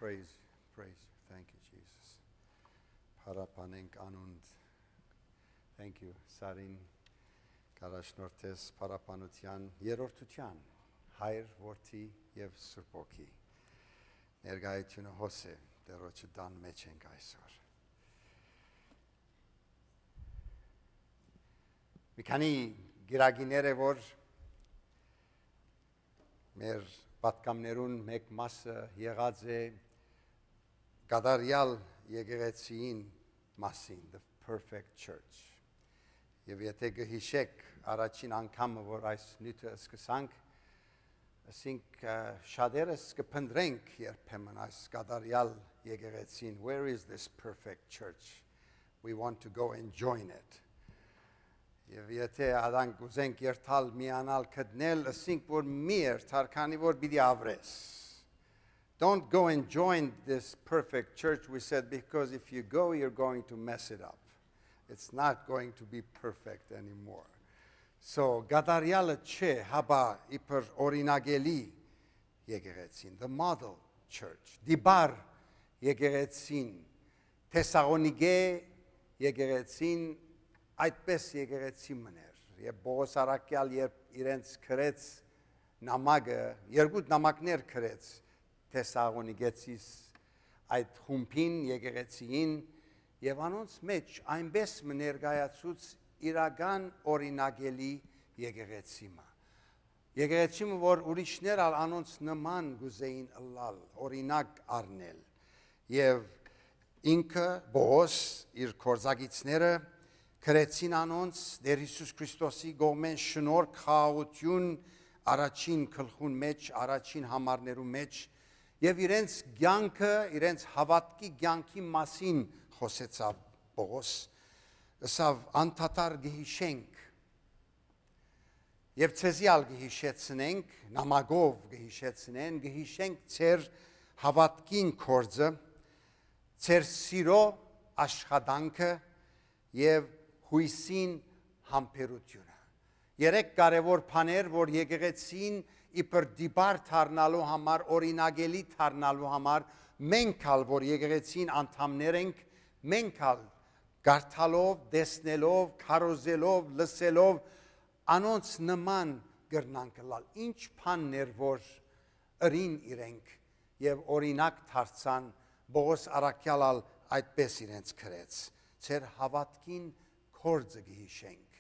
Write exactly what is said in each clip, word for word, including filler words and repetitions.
Praise, praise you. Thank you, Jesus. Փառաբանենք անունդ. Thank you, Սարին, կառաջնորդես փառաբանութեան երրորդութեան, Հայր, Որդի եւ Սուրբ Հոգի։ Ներկայությունը հոս է, Տերոջը տան մեջ ենք այսօր։ Մի քանի գիրագիներ է, որ մեր պատգամներուն մէկ մասը եղած է կատարյալ եկեղեցիին մասին, the perfect church։ Եւ եթե կը յիշեք, առաջին անգամը, որ այս նիւթը սկսանք, ասինք, ը, շատերս կը փնտրենք երբեմն այս կատարյալ եկեղեցին, "Where is this perfect church? We want to go and join it." Եւ եթե ադանք կ'ուզենք երթալ, միանալ, գտնել, ասինք, որ մի երթար, քանի որ պիտի ապրես։ Don't go and join this perfect church, we said, because if you go, you're going to mess it up. It's not going to be perfect anymore. So, կատարյալը չէ, հապա իբր օրինակելի եկեղեցին, the model church, դիպար եկեղեցին, Թեսաղոնիկէ եկեղեցին այդպես եկեղեցի մըն էր։ Եւ Պողոս առաքյալ, երբ իրենց գրեց նամակը, երկու նամակներ գրեց Թեսաղոնիկեցիս այդ խումբին, եկեղեցիին, եւ անոնց մեջ այնպես մը ներկայացուց իրական օրինակելի եկեղեցի մը։ Եկեղեցի մը, որ ուրիշներ ալ անոնց նման կ'ուզէին ըլլալ, օրինակ առնել։ Եւ ինքը, Պողոս, իր գործակիցները գրեցին անոնց Տեր Յիսուս Քրիստոսի կողմէն շնորհք, խաղաղութիւն առաջին գլխուն մեջ, առաջին համարներու մեջ, եւ իրենց կեանքը, իրենց հաւատքի կեանքի մասին խօսեցաւ Պողոս, ըսաւ. "Անդադար կը յիշենք, եւ ձեզի ալ կը յիշեցնենք, նամակով կը յիշեցնեն, կը յիշենք ձեր հաւատքին գործը, ձեր սիրո աշխատանքը եւ յոյսին համբերութիւնը"։ Երեք կարեւոր բաներ, որ եկեղեցին իբր դիպար դառնալու համար, օրինակելի դառնալու համար, մենք ալ, որ եկեղեցին անդամներ ենք, մենք ալ կարդալով, տեսնելով, քարոզելով, լսելով, անոնց նման կրնանք ըլլալ։ Ինչ բանն էր, որ ըրին իրենք եւ օրինակ դարձան, Պողոս առաքյալ ալ այդպես իրենց գրեց. "Ձեր հաւատքին գործը կը յիշենք,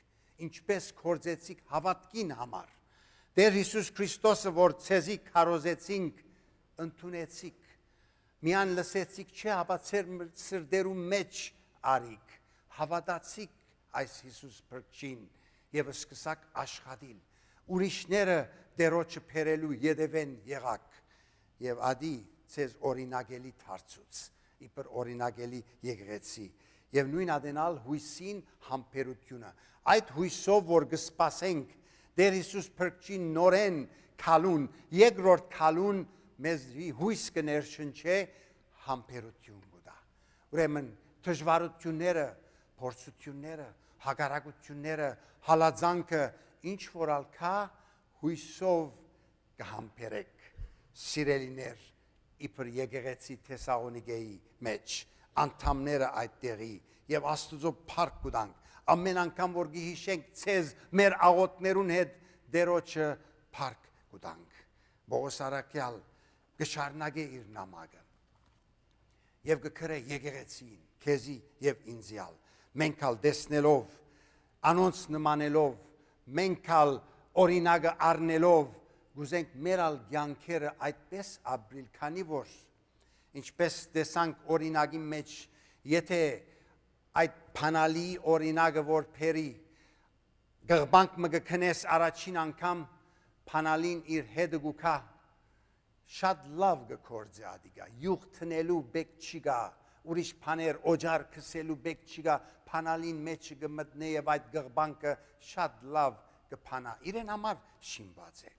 ինչպես գործեցիք հաւատքին համար։ Տեր Յիսուս Քրիստոսը, որ ձեզի քարոզեցինք, ընդունեցիք, միայն լսեցիք չէ, հապա ձեր սրտերու մեջ արիք, հաւատացիք այս Յիսուս Փրկչին եւ սկսաք աշխատիլ։ Ուրիշները Տերոջը բերելու ետեւէն եղաք, եւ ադի ձեզ օրինակելի դարձուց, իբր օրինակելի եկեղեցի, եւ նոյն ատենալ յոյսին համբերութիւնը։ Այդ յոյսով, որ կը սպասենք Տեր Յիսուս Փրկչին նորէն քալուն, երկրորդ քալուն, մեզի յոյս կը ներշնչէ, համբերութիւն կու տայ։ Ուրեմն դժուարութիւնները, փորձութիւնները, հակառակութիւնները, հալածանքը, ինչ որ ալ կայ, յոյսով կը համբերեք, սիրելիներ, իբր եկեղեցի Թեսաղոնիկէի մեջ, անդամները այդտեղի, եւ Աստուծոյ փառք կու տանք։ Ամեն անգամ որ կը յիշենք ձեզ, մեր աղօթքներուն հետ Տերոջը փառք կու տանք։ Պողոս առաքյալ կը շարունակէ իր նամակը եւ կը գրէ եկեղեցին, քեզի եւ ինձի ալ։ Մենք ալ տեսնելով, անոնց նմանելով, մենք ալ օրինակը առնելով, կ'ուզենք մեր ալ կեանքերը այդպես ապրիլ, քանի որ, ինչպես տեսանք օրինակի մեջ, եթե այդ բանալի օրինակը որ բերի, գղբանք մը կը քնես առաջին անգամ, բանալին իր հետը կու գայ, շատ լաւ կը գործէ ադիկա, յուղ տնելու պէք չի գայ, ուրիշ բաներ, օճառ քսելու պէք չի գայ, բանալին մեջը կը մտնէ եւ այդ գղբանքը շատ լաւ կը բանայ, իրեն համար շինուած է։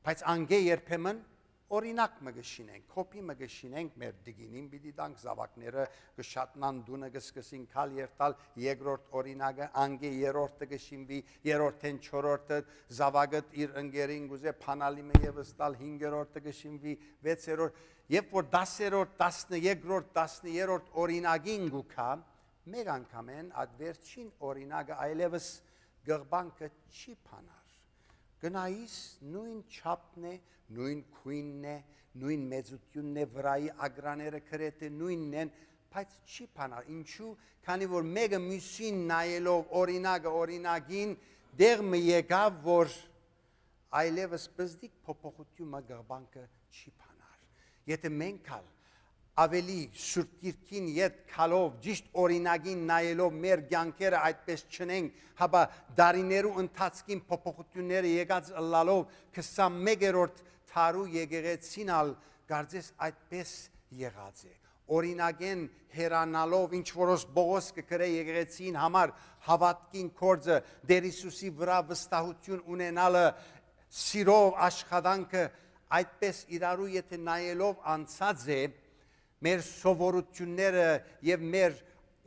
Բայց անկէ երբեմն Օրինակ մը կը շինենք, կոպի մը կը շինենք, մեր տիկինին պիտի տանք, զաւակները կը շատնան, տունը կը սկսին քալ երթալ, երկրորդ օրինակը, անկէ երրորդը կը շինուի, երրորդէն չորրորդը, զաւակը իր ընկերին կ'ուզէ բանալի մը ևս տալ, հինգերորդը կը շինուի, վեցերորդ, երբ որ դասերորդ, տասներկրորդ, տասներորդ օրինակին կու գայ, մէկ անգամէն այդ վերջին օրինակը այլեւս կղբանքը չի բանար։ Կը նայիս, նոյն չափն է, նոյն գոյնն է, նոյն մեծութիւնն է, վրայի ակրաները գրեթէ նոյնն են, բայց չի բանար։ Ինչու՞, քանի որ մէկը միւսին նայելով, օրինակը օրինակին, տեղ մը եկաւ, որ այլեւս պզտիկ փոփոխութիւն մը կղբանքը չի բանար։ Եթէ մենք ալ աւելի Սուրբ Գիրքին յետ գալով, ճիշտ օրինակին նայելով մեր կեանքերը այդպես չընենք, հապա դարիներու ընթացքին փոփոխութիւնները եկած ըլլալով, քսանմեկերորդ դարու եկեղեցին ալ կարծես այդպես եղած է։ Օրինակէն հեռանալով, ինչ որոս Պողոս կը գրէ եկեղեցին համար, հաւատքին կորձը, Տեր Յիսուսի վրայ վստահութիւն ունենալը, սիրով աշխատանքը, այդպես իրարու եթէ նայելով անցած է, մեր սովորութիւնները եւ մեր,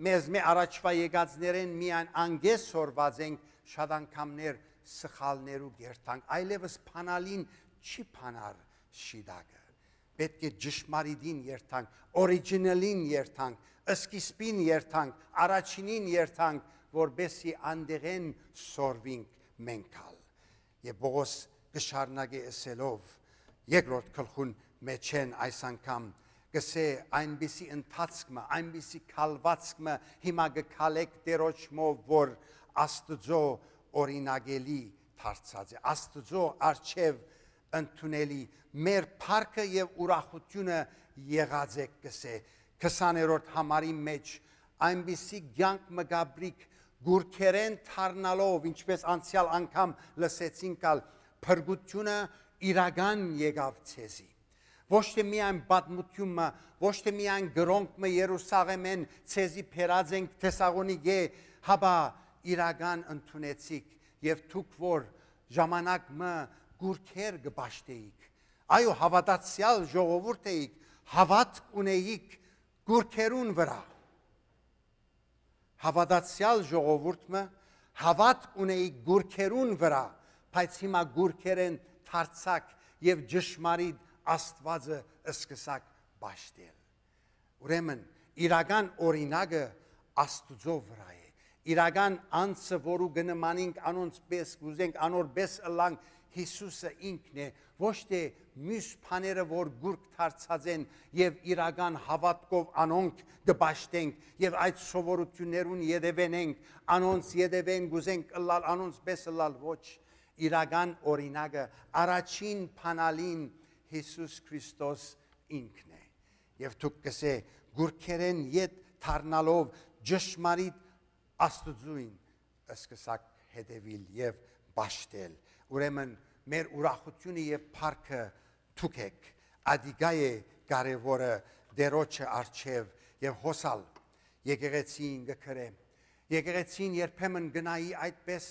մեզմէ առաջուայ եկածներէն միայն անգէ սորված ենք, շատ անգամներ սխալներու կերթանք, այլեւս բանալին չի բանար շիտակը։ Պէտք է ճշմարիտին երթանք, օրիջինալին երթանք, սկիզբին երթանք, առաջինին երթանք, որպեսզի անտեղէն սորվինք մենք ալ։ Եւ Պողոս կը շարունակէ ըսելով, երկրորդ գլխուն մէջէն այս անգամ կ'ըսէ. «Այնպիսի ընթացք մը, այնպիսի քալուածք մը հիմա կը քալէք Տէրոջմով, որ Աստուծոյ օրինակելի դարձած է, Աստուծոյ առջեւ ընդունելի, մեր փառքը եւ ուրախութիւնը եղած է», կ'ըսէ քսաներորդ համարի մէջ, այնպիսի կեանք մը կ'ապրիք, կուռքերէն դառնալով, ինչպես անցեալ անգամ լսեցինք ալ, փրկութիւնը իրական եկաւ ձեզի։ Ոչ թէ միայն պատմութիւն մը, ոչ թէ միայն կրօնք մը Երուսաղէմէն ձեզի բերած ենք Թեսաղոնիկէ, հապա իրական ընդունեցիք, եւ դուք որ ժամանակ մը կուռքեր կը պաշտէիք, այո, հաւատացեալ ժողովուրդ էիք, հաւատք ունէիք կուռքերուն վրայ։ Հաւատացեալ ժողովուրդ մը, հաւատք ունէիք կուռքերուն վրայ, բայց հիմա կուռքերէն դարձաք եւ ճշմարիտ Աստուածը սկսաք պաշտել։ Ուրեմն, իրական օրինակը Աստուծոյ վրայ է։ Իրական անձը, որու կը նմանինք անոնց պէս, կ'ուզենք անոր պէս ըլլանք, Յիսուսը ինքն է, ոչ թէ մյուս բաները, որ կուռք դարձած են, եւ իրական հաւատքով անոնք կը պաշտենք եւ այդ սովորութիւններուն ետեւեն ենք, անոնց ետեւեն կ'ուզենք ըլլալ, անոնց պէս ըլլալ, ոչ, իրական օրինակը, առաջին բանալին Յիսուս Քրիստոս ինքն է։ Եւ դուք կ'ըսէ, կուռքերէն յետ դառնալով ճշմարիտ Աստուծոյն, սկսաք հետեւիլ եւ պաշտել։ Ուրեմն, մեր ուրախութիւնը եւ փառքը դուք էք, ադիկա է կարեւորը Տէրոջը առջեւ, եւ հոս ալ եկեղեցին կը գրէ։ Եկեղեցին երբեմն կը նայի այդպես,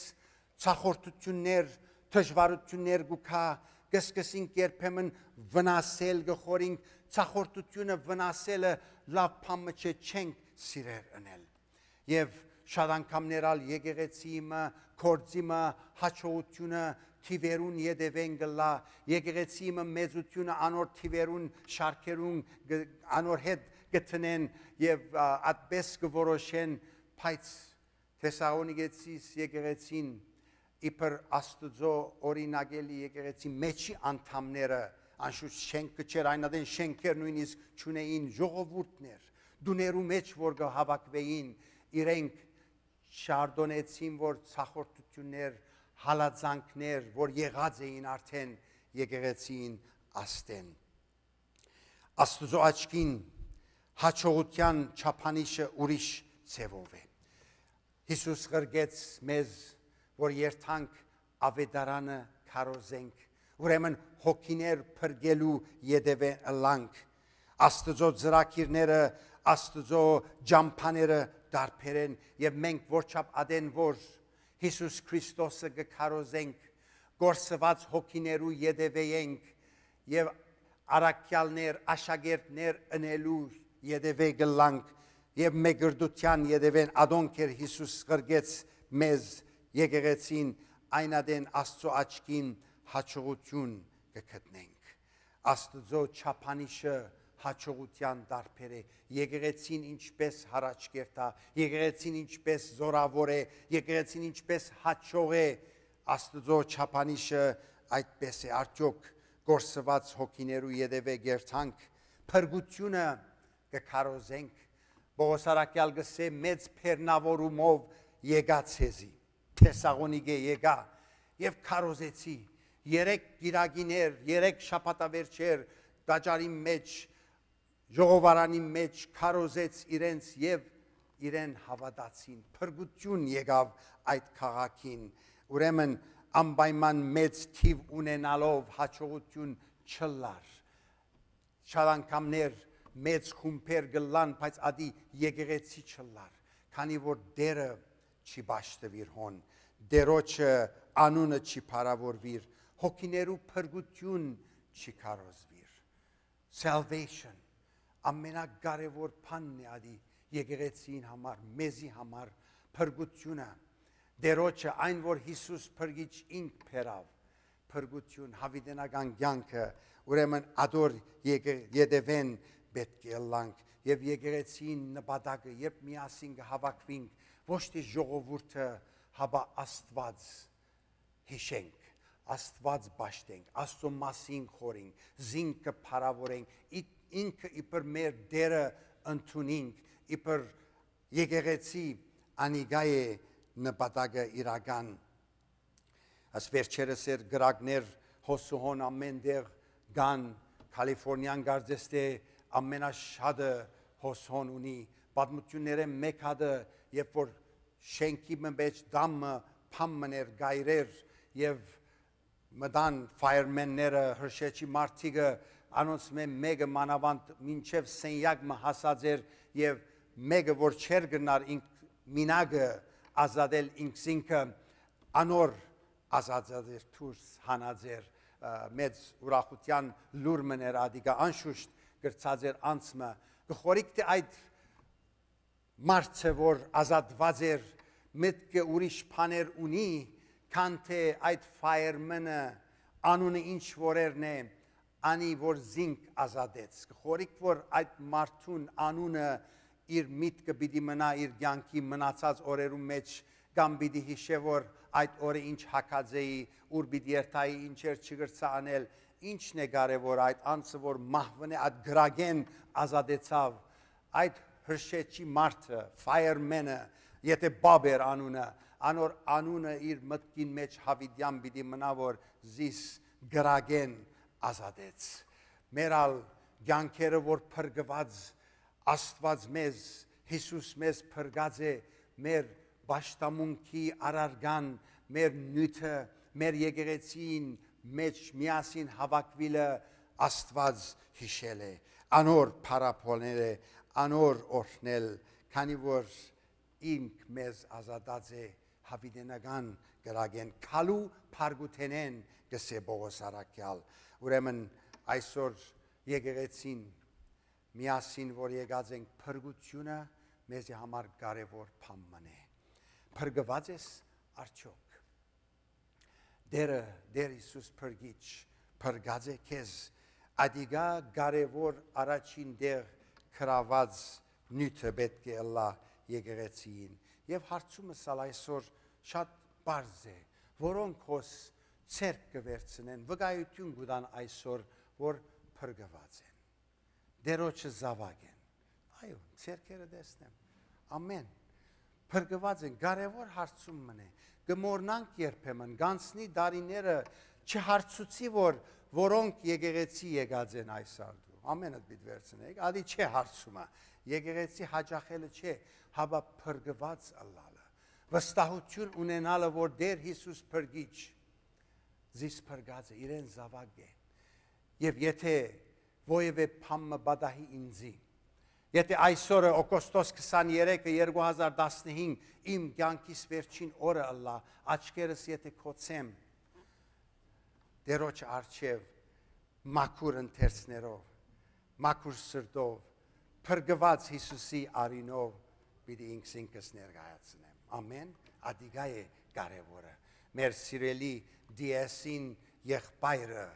ցախորտութիւններ, դժուարութիւններ կու գայ, կը սկսինք երբեմն վնասել, կը խորինք, ցախորտութիւնը, վնասելը լաւ բան մը չէ, չենք սիրեր ընել։ Եւ շատ անգամներ ալ եկեղեցի մը, գործի մը, յաջողութիւնը թիւերուն ետեւեն կ'ըլլայ, եկեղեցի մը մեծութիւնը անոր թիւերուն, շարքերուն, գ-, անոր հետ կը դնեն եւ, ա, այդպես կը որոշեն, բայց Թեսաղոնիկեցիս եկեղեցին, իբր Աստուծոյ օրինակելի եկեղեցի մէջի անդամները, անշուշտ շենք կը չէր, այն ատեն շենքեր նոյնիսկ չունէին, ժողովուրդներ, տուներու մէջ որ կը հաւաքուէին, իրենք շարդոնեցին, որ ցախորտութիւններ, հալածանքներ, որ եղած էին արդէն եկեղեցին աստեն։ Աստուծոյ աչքին յաջողութեան չափանիշը ուրիշ ձեւով է։ Յիսուս ղրկեց մեզ, որ երթանք աւետարանը քարոզենք, ուրեմն հոգիներ փրկելու ետեւէն ըլլանք։ Աստուծոյ ծրագիրները, Աստուծոյ ճամբաները տարբեր են, եւ մենք որչափ ատեն որ Յիսուս Քրիստոսը կը քարոզենք, կորսուած հոգիներու ետեւէ ենք, եւ առաքեալներ, աշակերտներ ընելու ետեւէ կ'ըլլանք եւ մեկրտութեան ետեւէն ատոնք էր Յիսուս ղրկեց մեզ եկեղեցին, այն ատեն Աստծո աչքին յաջողութիւն կը գտնենք։ Աստուծոյ չափանիշը յաջողութեան տարբեր է։ Եկեղեցին ինչպէս յառաջ կերթայ, եկեղեցին ինչպէս զօրաւոր է, եկեղեցին ինչպէս յաջող է, Աստուծոյ չափանիշը այդպէս է։ Արդեօք կորսուած հոգիներու ետեւէ կերթանք, փրկութիւնը կը քարոզենք։ Պողոս առաքեալ կ'ըսէ. «Մեծ բեռնաւորումով եկայ ձեզի»։ Թեսաղոնիկէ եկայ եւ քարոզեցի։ Երեք կիրակիներ, երեք շաբաթավերջեր տաճարին մէջ, ժողովարանի մէջ քարոզեց իրենց եւ իրեն հաւատացին։ Փրկութիւն եկաւ այդ քաղաքին։ Ուրեմն անպայման մեծ թիւ ունենալով յաջողութիւն չ'ըլլար։ Շատ անգամներ մեծ խումբեր կ'ըլլան, բայց ատի եկեղեցի չ'ըլլար, քանի որ Տէրը չի պաշտուիր հոն, Տէրոջը անունը չի փառաւորուիր, հոգիներու փրկութիւն չի քարոզուիր։ Salvation ամենակարեւոր բանն է ատի եկեղեցին համար, մեզի համար, փրկութիւնը, Տէրոջը, այն որ Յիսուս փրկիչ ինք բերաւ, փրկութիւն, յաւիտենական կեանքը, ուրեմն ատոր եկե-, ետեւէն պէտք է ըլլանք եւ եկեղեցին նպատակը, երբ միասին կը հաւաքուինք, ոչ թէ ժողովուրդը, հապա Աստուած յիշենք, Աստուած պաշտենք, Աստծո մասին խորինք, զինքը փառաւորենք, ի-, ինքը իբր մեր Տէրը ընդունինք, իբր եկեղեցի անիկա է նպատակը իրական։ Աս վերջերս էր կրակներ հոսուհոն ամեն տեղ կան, Քալիֆորնիան կարծես թէ ամենաշատը հոսոն ունի, պատմություններէն մէկ հատը, երբ որ շենքի մը մէջ դամը փամ մներ գայրեր եւ մտան firemen-ները, հրշեջի մարդիկը, անոնց մէ մէկը մանաւանդ մինչեւ սենյակ մը հասած էր եւ մէկը որ չէր գնար ինք մինակը ազատել ինքզինքը, անոր ազատած էր, դուրս հանած էր, ը, մեծ ուրախութեան լուր մը ներ ադիկա, անշուշտ կրցած էր անցմը։ Կը խորիկ թէ այդ մարդը, որ ազատված էր, մտքը ուրիշ բաներ ունի, քան թէ այդ fireman-ը անունը ինչ որ երն է, անի որ զինք ազատեց։ Կը խորիկ որ այդ մարդուն անունը իր միտքը պիտի մնայ իր կեանքի մնացած օրերուն մէջ, կամ պիտի յիշէ որ այդ օրը ինչ հագած էի, ուր պիտի երթայի, ինչեր չկրցայ անել, ինչն է կարեւոր այդ անձը որ մահվնէ այդ կրակէն ազատեցաւ, այդ հրշեջի մարդը, fireman-ը, եթե Բաբ էր անունը, անոր անունը իր մտքին մէջ յաւիտեան պիտի մնայ որ զիս կրակէն ազատեց։ Մեր ալ կեանքերը որ փրկուած Աստուած մեզ, Յիսուս մեզ փրկած է մեր պաշտամունքի առարկան, մեր նիւթը, մեր եկեղեցին մէջ միասին հաւաքուիլը Աստուած յիշել է, անոր փառաբանել է, անոր օրհնել, քանի որ ինք մեզ ազատած է յաւիտենական կրակէն, քալու փառքութենէն, կ'ըսէ Պողոս առաքեալ։ Ուրեմն այսօր եկեղեցին միասին որ եկած ենք, փրկութիւնը մեզի համար կարեւոր բան մըն է։ Փրկուած ես արդյոք։ Տերը, Տեր Յիսուս փրկիչ, փրկած է քեզ։ Ադիկա կարեւոր առաջին տեղ գրաված նիւթը պէտք է ըլլայ եկեղեցիին։ Եւ հարցումս ալ այսօր շատ պարզ է, որոնք հոս ցերկ կը վերցնեն, վկայութիւն կու տան այսօր, որ փրկուած են, Տերոջը զաւակ են։ Այո, ցերկերը տեսնեմ։ Ամեն։ Փրկուած են, կարեւոր հարցում մըն է։ Կը մոռնանք երբեմն, գանցնի տարիները չհարցուցի, որ որոնք եկեղեցի եկած են այս արդու։ Ամենը պիտի վերցնեք, ադի չէ հարցումը։ Եկեղեցի յաճախելը չէ, հապա փրկուած ըլլալը։ Վստահութիւն ունենալը, որ Տեր Յիսուս փրկիչ զիս փրկած է, իրեն զաւակ է։ Եւ եթե որեւէ բան մը պատահի ինձի, եթե այսօրը, օգոստոս քսաներեքը, երկու հազար տասնհինգ, իմ կեանքիս վերջին օրը ըլլայ, աչքերս եթե կոցեմ Տերոջ առջեւ, Մաքուր ընթերցներով, մաքուր սրտով, փրկուած Յիսուսի արիւնով պիտի ինքզինքս ներկայացնեմ։ Ամեն, ատիկա է կարեւորը։ Մեր սիրելի D S-ին եղբայրը,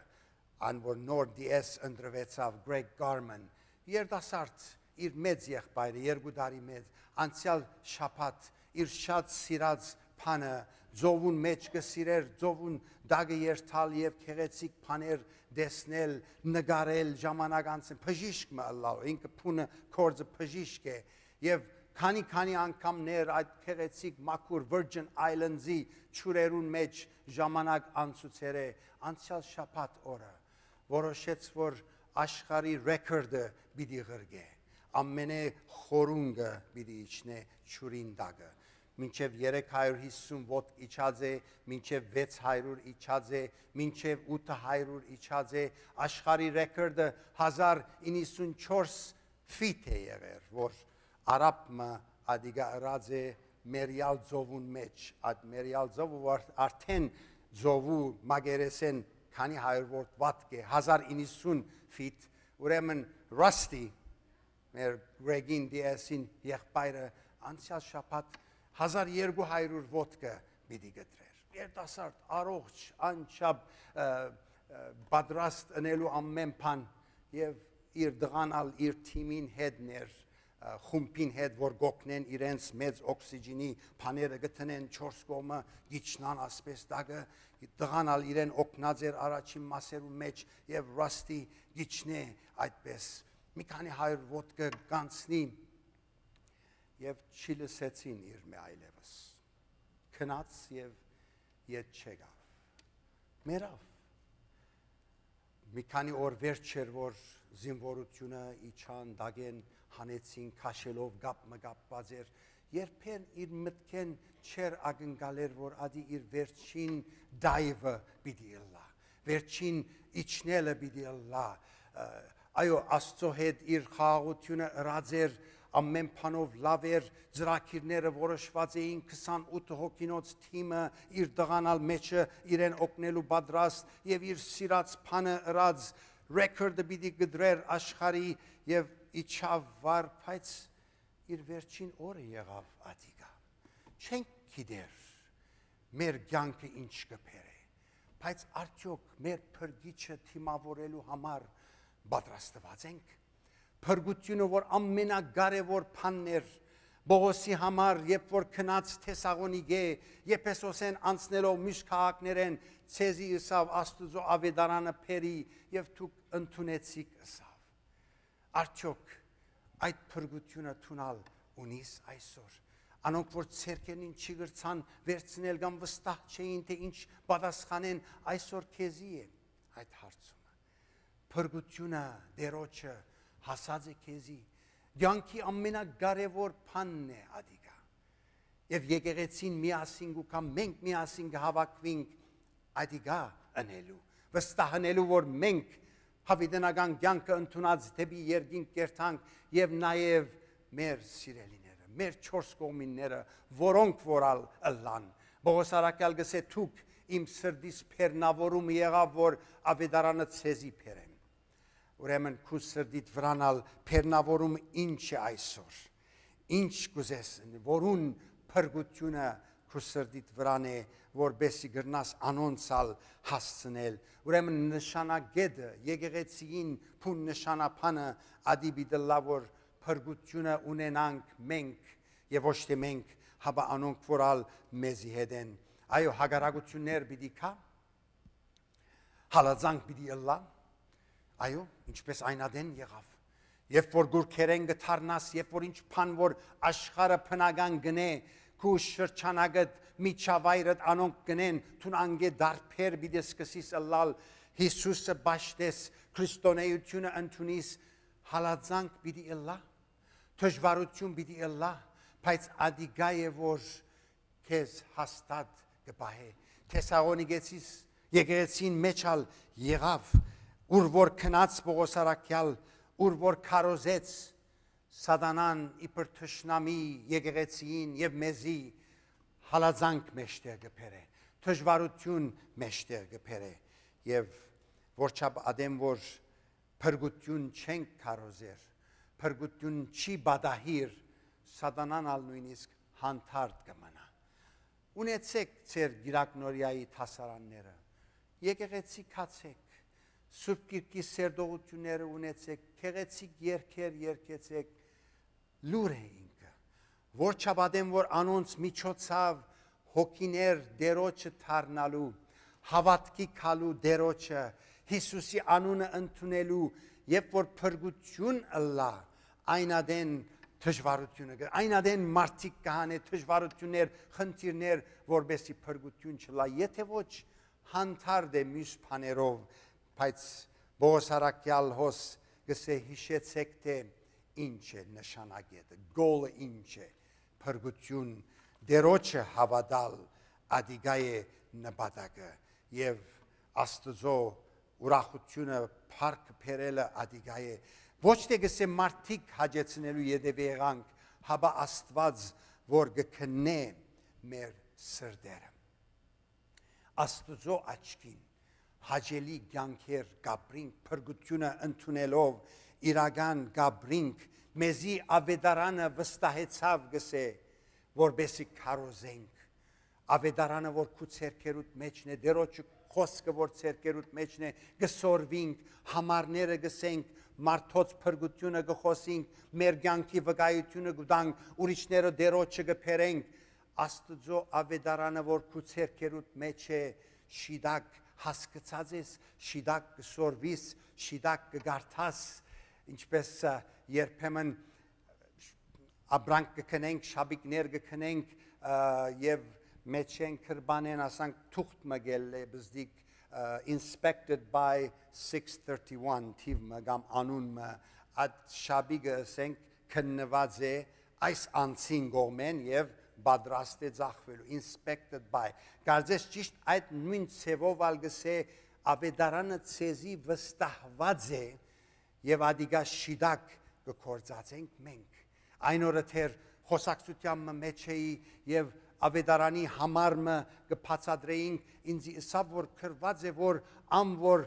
ան որ նոր D S ընտրուեցաւ, Greg Garman, երիտասարդ, իր մեծ եղբայրը, երկու տարի մեծ, անցեալ շաբաթ իր շատ սիրած բանը, ծովուն մէջ կը սիրէր, ծովուն տակը երթալ եւ գեղեցիկ բաներ տեսնել, նկարել, ժամանակ անցնել, բժիշկ մը ըլլալ, ինքը բունը, գործը բժիշկ է, եւ քանի-քանի անգամներ այդ գեղեցիկ մաքուր Virgin Islands-ի ջուրերուն մէջ ժամանակ անցուցեր է, անցեալ շաբաթ օրը որոշեց, որ աշխարհի ռեքորդը պիտի ղրկէ, ամենէ խորունկը պիտի իջնէ ջուրին տակը։ Մինչեւ երեք հարիւր յիսուն ոտք իջած է, մինչեւ վեց հարիւր իջած է, մինչեւ ութ հարիւր իջած է, աշխարհի ռեքորդը հազար իննսուն չորս ֆիթ է եղեր, որ արաբ մը ատիկա ըրած է Մերիալ ծովուն մէջ։ Այդ Մերիալ ծովը որ արդեն ծովու մակերեսէն քանի հարիւր ոտք է, հազար իննսուն ֆիթ, ուրեմն Ռասթի, մեր Ռեգին D S-ին եղբայրը, անցեալ շաբաթ հազար երկու հարիւր ոտքը պիտի կտրեր։ Երիտասարդ, առողջ, անչափ, ը, ը, պատրաստ ընելու ամեն բան, եւ իր տղան ալ իր թիմին հետն էր, ը, խումբին հետ, որ գօգնեն իրենց մեծ օքսիջինի բաները գտնեն, չորս կողմը գիչնան ասպես տակը, տղան ալ իրեն օգնած էր առաջին մասերու մէջ, եւ Ռասթի գիչնէ այդպես։ Մի քանի հարիւր ոտքը կանցնի, եւ չի լսեցին իր մէ այլեւս։ Գնաց եւ ետ չեկաւ։ Մեռաւ։ Մի քանի օր վերջ էր, որ զինվորութիւնը իջան, տակէն հանեցին, քաշելով կապ մը կապուած էր, երբեն իր մտքէն չէր ակնկալեր, որ ատի իր վերջին dive-ը պիտի ըլլայ, վերջին իջնելը պիտի ըլլայ։ Ը, այո, Աստծո հետ իր խաղաղութիւնը ըրած էր, ամեն բանով լաւ էր, ծրագիրները որոշուած էին, քսանութ հոգինոց թիմը, իր տղան ալ մէջը իրեն օգնելու պատրաստ, եւ իր սիրած բանը ըրած, ռեքորդը պիտի կտրեր աշխարհի, եւ իջաւ վար, բայց իր վերջին օրը եղաւ ատիկա։ Չենք գիտեր մեր կեանքը ինչ կը բերէ, բայց արդեօք մեր փրկիչը դիմաւորելու համար պատրաստուած ենք։ Փրկութիւնը, որ ամենակարեւոր բանն էր Պողոսի համար, երբ որ գնաց Թեսաղոնիկէ, Եփեսոսէն անցնելով մյուս քաղաքներէն, ձեզի ըսաւ, Աստուծոյ աւետարանը բերի, եւ դուք ընդունեցիք, ըսաւ։ Արդեօք այդ փրկութիւնը դուն ալ ունի՞ս այսօր։ Անոնք, որ ձեռքերնին չի կրցան վերցնել կամ վստահ չէին, թէ ինչ պատասխանեն, այսօր քեզի է այդ հարցումը։ Փրկութիւնը Տէրոջը հասած է քեզի։ Կեանքի ամենակարեւոր բանն է ատիկա։ Եւ եկեղեցին միասին կու կամ մենք միասին կը հաւաքուինք ատիկա ընելու, վստահ ընելու, որ մենք յաւիտենական կեանքը ընդունած դէպի երկինք կերթանք, եւ նաեւ մեր սիրելիները, մեր չորս կողմինները, որոնք որ ալ ըլլան։ Պողոս առաքյալ կ'ըսէ. «Դուք իմ սրտիս բեռնաւորումը եղաւ, որ աւետարանը ձեզի բերեմ»։ Ուրեմն քու սրտիդ վրան ալ բեռնաւորումը ինչ է այսօր։ Ինչ կ'ուզես, որուն փրկութիւնը քու սրտիդ վրան է, որպեսզի կրնաս անոնց ալ հասցնել։ Ուրեմն նշանակեդը, եկեղեցիին բուն նշանաբանը ատի պիտի ըլլայ, որ փրկութիւնը ունենանք մենք, եւ ոչ թէ մենք, հապա անոնք որ ալ մեզի հետ են։ Այո, հակառակութիւններ պիտի գան, հալածանք պիտի ըլլայ, այո, ինչպես այն ատեն եղաւ։ Երբ որ գուրքերէն կը դառնաս, երբ որ ինչ բան որ աշխարհը բնական կ'ընէ, քու շրջանակդ, միջավայրդ անոնք կ'ընեն, դուն անկէ դարբեր պիտի սկսես ըլլալ, Յիսուսը պաշտես, քրիստոնէութիւնը ընդունես, հալածանք պիտի ըլլայ, դժուարութիւն պիտի ըլլայ, բայց ատիկա է որ քեզ հաստատ կը պահէ։ Թեսաղոնիկեցիս եկեղեցին մէջ ալ եղաւ, ուր որ գնաց Պողոս առաքյալ, ուր որ քարոզեց, սատանան իբր թշնամի եկեղեցիին եւ մեզի հալածանք մէջտեղ կը բերէ, դժուարութիւն մէջտեղ կը բերէ, եւ Որչափ ատեն որ փրկութիւն չենք քարոզեր, փրկութիւն չի պատահիր, սատանան ալ նոյնիսկ հանդարտ կը մնայ։ Ունեցէք ձեր կիրակնորիայի դասարանները, եկեղեցի գացէք, Սուրբ Գիրքի սերտողութիւնները ունեցէք, գեղեցիկ երգեր երգեցէք, լուր է ինքը։ Որչափ ատեն որ անոնց միջոցաւ հոգիներ Տէրոջը դառնալու, հաւատքի գալու Տէրոջը, Յիսուսի անունը ընդունելու, երբ որ փրկութիւն ըլլայ, այն ատեն դժուարութիւնը կը, այն ատեն մարդիկ կը հանէ դժուարութիւններ, խնդիրներ, որպեսզի փրկութիւն չըլլայ, եթէ ոչ, հանդարտ է միւս բաներով, բայց Պողոս առաքեալ հոս կ'ըսէ. «Յիշեցէք թէ ինչ է նշանակետը, գոլը ինչ է, փրկութիւն, Տէրոջը հաւատալ, ատիկա է նպատակը եւ Աստուծոյ ուրախութիւնը, փառքը բերելը ատիկա է»։ Ոչ թէ կ'ըսէ մարդիկ հաճեցնելու ետեւը եղանք, հապա Աստուած որ կը քննէ մեր սրտերը։ Աստուծոյ աչքին հաճելի կեանքեր կ'ապրինք, փրկութիւնը ընդունելով իրական կ'ապրինք, մեզի աւետարանը վստահեցաւ, կ'ըսէ, որպեսզի քարոզենք։ Աւետարանը որ քու ձեռքերուդ մէջն է, Տէրոջը խօսքը որ ձեռքերուդ մէջն է, կը սորվինք, համարները կ'ըսենք, մարդոց փրկութիւնը կը խօսինք, մեր կեանքի վկայութիւնը կու տանք, ուրիշները Տէրոջը կը բերենք։ Աստուծոյ աւետարանը որ քու ձեռքերուդ մէջ է, շիտակ հասկցած ես, շիտակ կը սորվիս, շիտակ կը կարդաս, ինչպէս, ը, երբեմն ապրանք կը քնենք, շապիկներ կը քնենք, ը, եւ մէջէն կրպանէն, ասանք, թուղթ մը կ'ելլէ բզդիկ, ը, inspected by six thirty-one թիւ մը կամ անուն մը, այդ շապիկը, ասենք, քննուած է այս անձին կողմէն եւ պատրաստ է ձախվելու, inspected by։ Կարծես ճիշտ այդ նոյն ձեւով ալ կ'ըսէ, աւետարանը ձեզի վստահուած է, եւ ատիկա շիտակ կը գործածենք մենք։ Այն օրը դեռ խօսակցութեան մը մէջ էի եւ աւետարանի համար մը կը բացատրեինք, ինձի ըսաւ որ գրուած է որ ան որ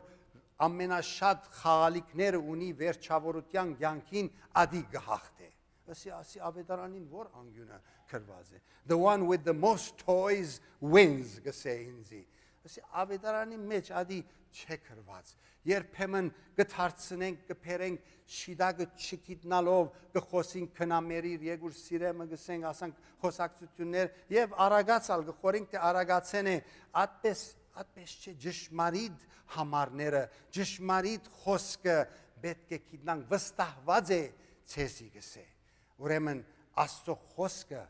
ամենաշատ խաղալիքները ունի վերջաւորութեան կեանքին, ատի կը հաղթէ։ Ասի, ասի, աւետարանին որ անկիւնը գրուած է, the one with the most toys wins, կ'ըսէ ինձի։ Ասի, աւետարանի մէջ ատի չէ գրուած։ Երբեմն կը դարձնենք, կը բերենք, շիտակը չգիտնալով, կը խօսենք, քնամերիր, եկուր սիրեմը, կ'ըսենք, ասանք, խօսակցութիւններ, եւ արագած ալ կը խորենք թէ արագացեն է, ատպէս, ատպէս չէ, ճշմարիտ համարները, ճշմարիտ խօսքը պէտք է գիտնանք, վստահուած է ձեզի, կ'ըսէ։ Ուրեմն Աստուծոյ խօսքը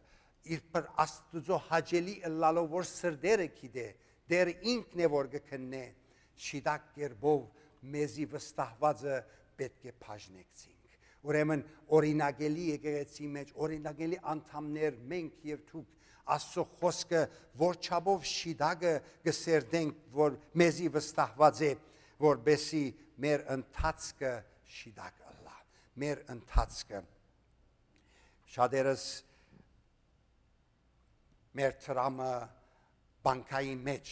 իր պր Աստուծոյ հաճելի ըլլալով որ սրտերը գիտէ, դեռ ինքն է որ կը քննէ, շիտակ կերպով մեզի վստահուածը պէտք է բաժնեկցինք։ Ուրեմն օրինակելի եկեղեցի մէջ, օրինակելի անդամներ մենք եւ դուք Աստուծոյ խօսքը որչափով շիտակը կը սերտենք որ մեզի վստահուած է, որպեսի մեր ընթացքը շիտակ ըլլայ, մեր ընթացքը։ Շատերս մեր դրամը բանկայի մէջ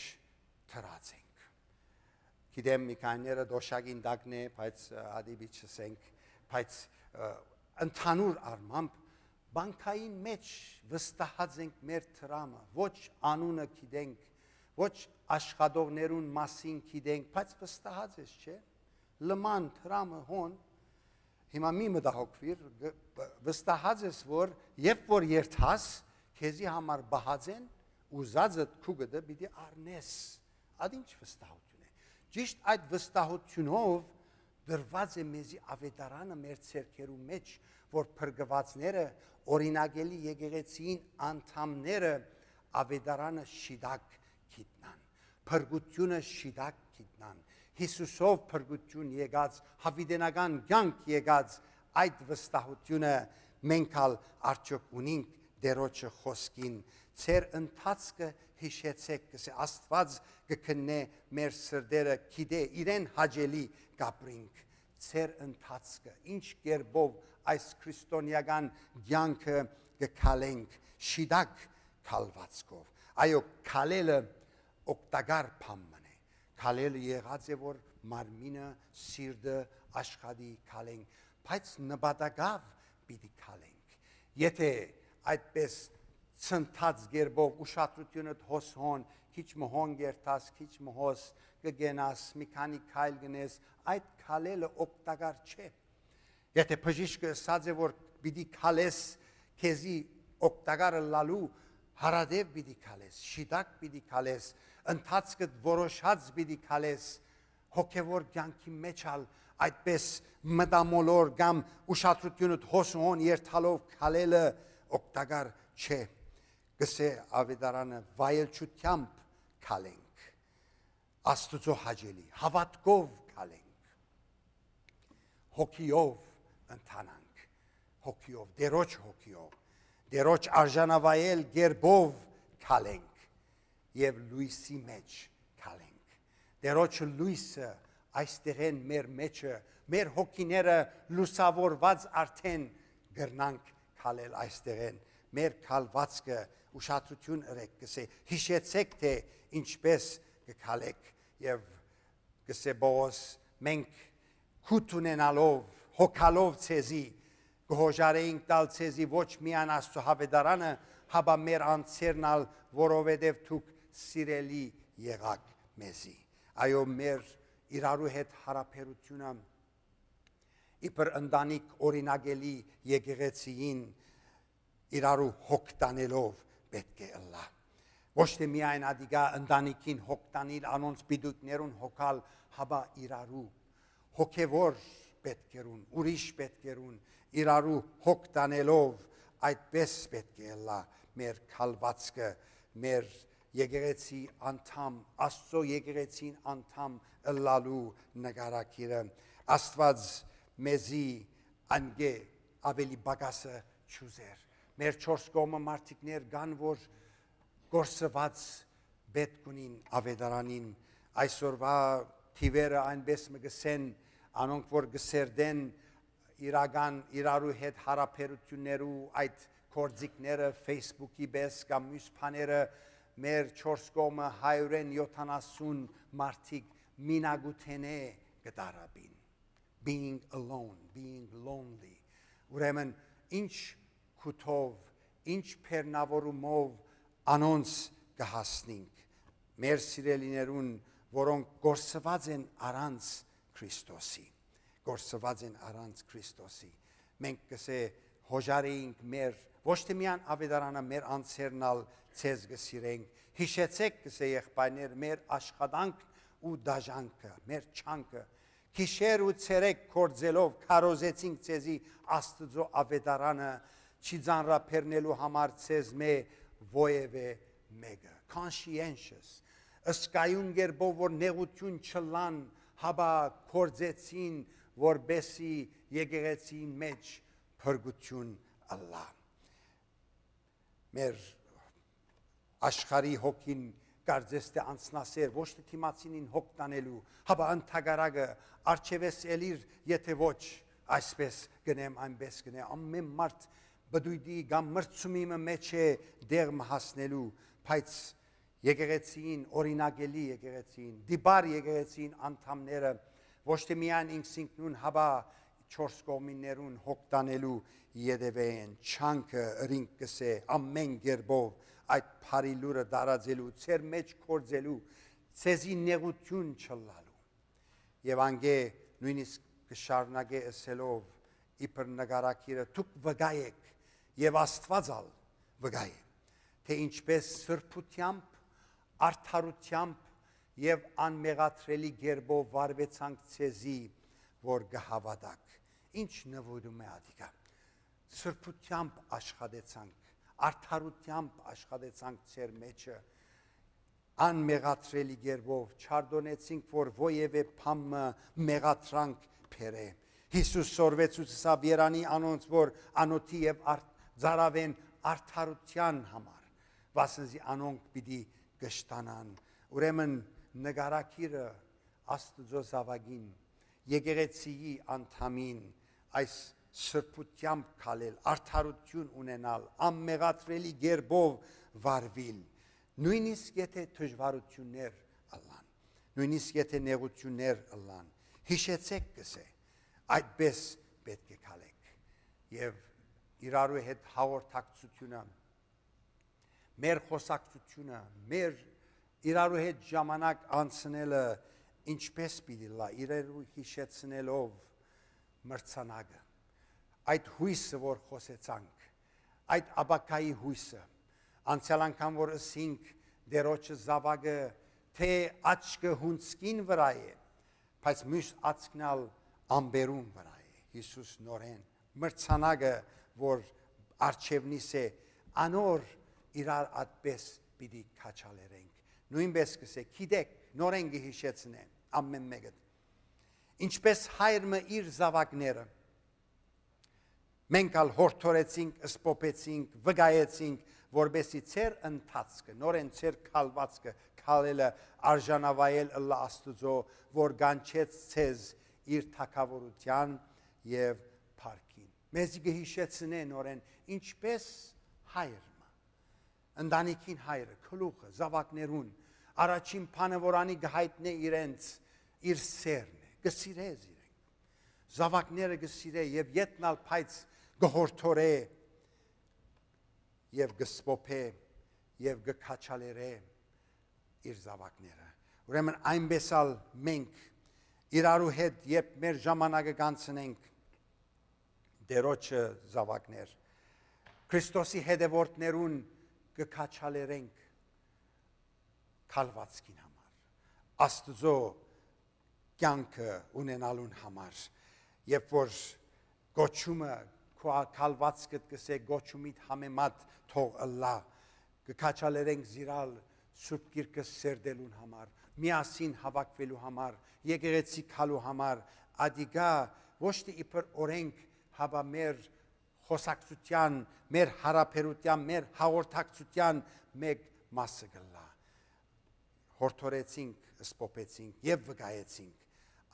դրած ենք։ Գիտեմ, մի քանիները դոշակին տակն է, բայց, ը, ադի պիտի չըսենք, բայց, ը, ընդհանուր առմամբ բանկային մէջ վստահած ենք մեր դրամը, ոչ անունը գիտենք, ոչ աշխատողներուն մասին գիտենք, բայց վստահած ես, չէ՞։ Լման դրամը հոն, հիմա մի մտահոգվիր, գ-, բ-, վստահած ես որ երբ որ երթաս, քեզի համար պահած են, ուզածդ քու գտը պիտի առնես։ Ատ ինչ վստահություն է։ Ճիշտ այդ վստահությունով դրված է մեզի աւետարանը մեր ձեռքերու մէջ, որ փրկուածները, օրինակելի եկեղեցիին անդամները աւետարանը շիտակ գիտնան, փրկությունը շիտակ գիտնան, Յիսուսով փրկություն եկած, յաւիտենական կեանք եկած, այդ վստահությունը մենք ալ արդյոք ունինք Տէրոջը խօսքին։ Ձեր ընթացքը յիշեցէք, կ'ըսէ, Աստուած կը քննէ մեր սրտերը, գիտէ, իրեն հաճելի կ'ապրինք։ Ձեր ընթացքը, ինչ կերպով այս քրիստոնեական կեանքը կը քալենք, շիտակ քալվածքով։ Այո, քալելը օգտակար բան մըն է։ Քալելը եղած է որ մարմինը, սիրտը աշխատի քալենք, բայց նպատակաւ պիտի քալենք։ Եթե այդպես ցնցած կերպով ուշադրութիւնդ հոս հոն, քիչ մը հոն կ'երթաս, քիչ մը հոս կը կենաս, մի քանի քայլ կ'ընես, այդ քալելը օգտակար չէ։ Եթե բժիշկը ըսած է, որ պիտի քալես, քեզի օգտակար ըլլալու, հարատեւ պիտի քալես, շիտակ պիտի քալես, ընթացքդ որոշած պիտի քալես, հոգեւոր կեանքի մեջ ալ այդպես մտամոլոր կամ ուշադրութիւնդ հոս ու հոն երթալով քալելը օգտակար չէ։ Կսէ Աւետարանը, վայելչութեամբ քալենք, Աստուծոյ հաճելի, հաւատքով քալենք, հոգիով ընթանանք, հոգիով, Տէրոջ հոգիով, Տէրոջ արժանավայել կերպով քալենք եւ լոյսի մեջ քալենք։ Տէրոջ լոյսը այստեղէն մեր մեջը, մեր հոգիները լուսաւորուած արդէն կրնանք քալել այստեղէն։ Մեր քալուածքը, ուշադրութիւն ըրեք, կսէ, յիշեցէք թէ ինչպէս կը քալէք, եւ կսէ Պողոս, մենք քուտ ունենալով, հոգալով ձեզի, կը հոժարէինք տալ ձեզի ոչ միայն Աստուծոյ Աւետարանը, հապա մեր անձերն ալ, որովհետեւ դուք սիրելի եղաք մեզի։ Այո, մեր իրարու հետ յարաբերութիւնը իբր ընտանիք օրինակելի եկեղեցիին իրարու հոգ տանելով պէտք է ըլլայ։ Ոչ թէ միայն ատիկա ընտանիքին հոգ տանիլ, անոնց պիտոյքներուն հոգալ, հապա իրարու հոգեւոր պէտքերուն, ուրիշ պէտքերուն իրարու հոգ տանելով, այդպէս պէտք է ըլլայ մեր քալուածքը, մեր եկեղեցի անդամ, Աստուծոյ եկեղեցին անդամ ըլլալու նկարագիրը։ Աստուած մեզի անկէ աւելի պակասը չուզեր։ Մեր չորս կողմը մարդիկներ կան, որ կորսուած պէտք ունին Աւետարանին։ Այսօրուայ թիւերը այնպէս մը կ'ըսեն, անոնք որ կը սերտեն իրական իրարու հետ յարաբերութիւններու այդ գործիքները, Facebook-ի պէս կամ մյուս բաները, մեր չորս կողմը հարիւրէն եօթանասուն մարդիկ մինակութենէ կը տառապին։ Being alone, being lonely։ Ուրեմն, ինչ քութով, ինչ բեռնաւորումով անոնց կը հասնինք, մեր սիրելիներուն, որոնք կորսուած են առանց Քրիստոսի, կորսուած են առանց Քրիստոսի։ Մենք կսէ հոժարեինք մեր, ոչ թէ միայն Աւետարանը, մեր անձերն ալ ձեզ կը սիրենք։ Յիշեցէք, կսէ եղբայրներ, մեր աշխատանքն ու դաժանքը, մեր չանքը, գիշեր ու ցերեկ գործելով քարոզեցինք ձեզի Աստուծոյ Աւետարանը, չի ծանրաբեռնելու համար ձեզմէ որեւէ մէկը։ Conscientious, ըսկայուն կերպով որ նեղութիւն չըլլան, հապա գործեցին, որպէսզի եկեղեցին մեջ փրկութիւն ըլլայ։ Մեր աշխարհի հոգին կարծես թէ անձնասեր, ոչ թէ դիմացինին հոգ տանելու, հապա ընդհակառակը, արջևես ելիր, եթե ոչ, այսպես կ'ընեմ, այնպես կ'ընեմ, ամէն մարդ պտույտի կամ մրցումի մը մէջ է դեղ մը հասնելու, բայց եկեղեցին, օրինակելի եկեղեցին, դիպար եկեղեցին անդամները ոչ թէ միայն ինքզինքնուն, հապա չորս կողմիններուն հոգ տանելու ետևէ են, չանքը ըրինք կսէ, ամէն կերպով այդ բարի լուրը տարածելու, ձեր մեջ գործելու, ձեզի նեղութիւն չըլլալու։ Եւ անկէ նոյնիսկ կը շարունակէ ըսելով, իբր նկարագիրը, դուք վկայ էք, եւ Աստուած ալ վկայ է, թէ ինչպէս սրբութեամբ, արդարութեամբ եւ անմեղատրելի կերպով վարուեցանք ձեզի, որ կը հաւատաք։ Ինչ նվիրում է ատիկա։ Սրբութեամբ աշխատեցանք, արդարութեամբ աշխատեցանք ձեր մեջը, անմեղատրելի կերպով չարդոնեցինք, որ որեւէ բան մը մեղադրանք բերէ։ Յիսուս սորվեցուց ըսաւ. «Երանի անոնց, որ անօթի եւ արդ-, ծարաւեն արդարութեան համար, վասն զի անոնք պիտի կշտանան»։ Ուրեմն նկարագիրը Աստուծոյ զաւակին, եկեղեցիի անդամին այս սրբութեամբ քալել, արդարութիւն ունենալ, անմեղատրելի կերպով վարուիլ, նոյնիսկ եթե դժուարութիւններ ըլլան։ Նոյնիսկ եթէ նեղութիւններ ըլլան, յիշեցէք, կ'ըսէ, այդպէս պէտք է քալէք։ Եւ իրարու հետ հաղորդակցութիւնը, մեր խօսակցութիւնը, մեր իրարու հետ ժամանակ անցնելը ինչպէս պիտի ըլլայ, իրարու յիշեցնելով մրցանակը, այդ յոյսը, որ խօսեցանք, այդ ապագայի յոյսը, անցեալ անգամ որ ըսինք, Տէրոջը զաւակը թէ աչքը յունձքին վրայ է, բայց միւս աչքն ալ ամպերուն վրայ է։ Յիսուս նորէն մրցանակը, որ առջեւնիս է, անոր իրար այդպէս պիտի քաջալերենք։ Նոյնպէս կ'ըսէ, գիտէք, նորէն կը յիշեցնէ ամէն մէկը, ինչպէս հայր մը իր զաւակները, մենք ալ յորդորեցինք, սփոփեցինք, վկայեցինք, որպէսզի ձեր ընթացքը, նորէն ձեր քալուածքը, քալելը արժանավայել ըլլայ Աստուծոյ, որ կանչեց ձեզ իր թագաւորութեան եւ փառքին։ Մեզի կը յիշեցնէ նորէն, ինչպէս հայր մը, ընտանիքին հայրը, գլուխը, զաւակներուն, առաջին բանը որ անի կը յայտնէ իրենց, իր սէրն է, կը սիրէ զիրենք։ Զաւակները կը սիրէ եւ ետն ալ, բայց կը յորդորէ եւ կը սփոփէ եւ կը քաջալերէ իր զաւակները։ Ուրեմն այնպէս ալ մենք իրարու հետ, երբ մեր ժամանակը կանցնենք, Տէրոջը զաւակներ, Քրիստոսի հետեւորդներուն կը քաջալերենք քալուածքին համար, Աստուծոյ կեանքը ունենալուն համար, երբ որ կոչումը քու ա-, քալուածքդ կ'ըսէ, կոչումիդ համեմատ թող ըլլայ, կը քաջալերենք զիրալ Սուրբ Գիրքը սերտելուն համար, միասին հաւաքուելու համար, եկեղեցի գալու համար, ադիկա ոչ թէ իբր օրենք, հապա մեր խօսակցութեան, մեր յարաբերութեան, մեր հաղորդակցութեան մէկ մասը կ'ըլլայ։ Յորդորեցինք, սփոփեցինք եւ վկայեցինք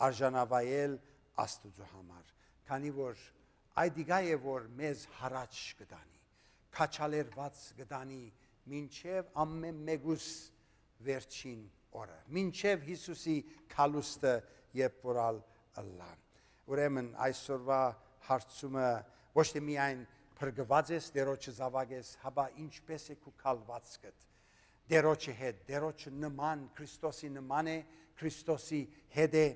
արժանավայել Աստուծոյ համար, քանի որ այդ իկա է, որ մեզ յառաջ կը տանի, քաջալերուած կը տանի մինչեւ ամէն մէկուս վերջին օրը, մինչեւ Յիսուսի գալուստը, երբ որ ալ ըլլայ։ Ուրեմն այսօրվա հարցումը ոչ թէ միայն փրկուած ես, Տէրոջը զաւակ ես, հապա ինչպէս է քու քալուածքդ Տէրոջը հետ, Տէրոջը նման, Քրիստոսի նման է, Քրիստոսի հետ է,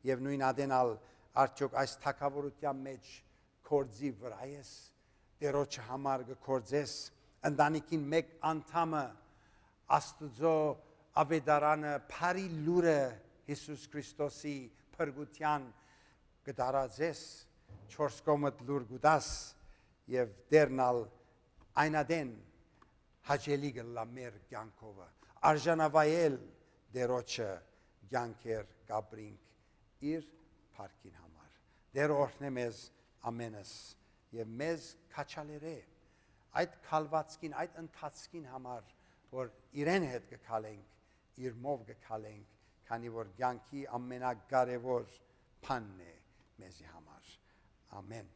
եւ նոյն ատեն ալ արդեօք այս թագաւորութեան մէջ գործի վրայ ես, Տէրոջը համար կը գործես, ընտանիքին մէկ անդամը Աստուծոյ աւետարանը, բարի լուրը, Յիսուս Քրիստոսի փրկութեան կը տարածես, չորս կողմդ լուր կու տաս եւ Տէրն ալ այն ատեն հաճելի կ'ըլլայ մեր կեանքովը, արժանավայել Տէրոջը կեանքեր կ'ապրինք իր փառքին համար։ Տէրը օրհնէ մեզ ամենս եւ մեզ քաջալերէ այդ քալուածքին, այդ ընթացքին համար, որ իրեն հետ կը քալենք, իրմով կը քալենք, քանի որ կեանքի ամենակարեւոր բանն է մեզի համար։ Ամեն։